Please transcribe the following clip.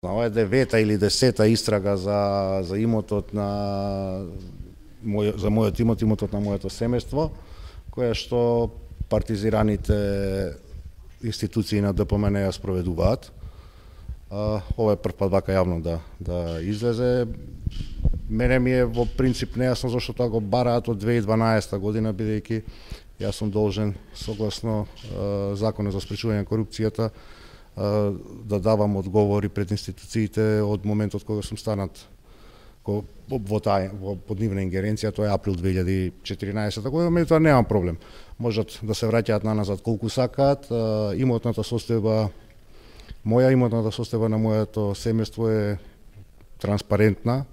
Ова е 9-та или 10-та истрага за имотот на за мојот имотот на моето семејство, која што партизираните институции на ДПМН ја спроведуваат. Ова е прв пат вака јавно да излезе. Мене ми е во принцип нејасно зашто тоа го бараат од 2012 година, бидејќи јас сум должен согласно Законот за спречување на корупцијата да давам одговори пред институциите од моментот кога сум станат под нивна ингеренција, тоа е април 2014 година, меѓутоа немам проблем. Можат да се враќаат наназад колку сакаат. Имотната состојба на моето семејство е транспарентна.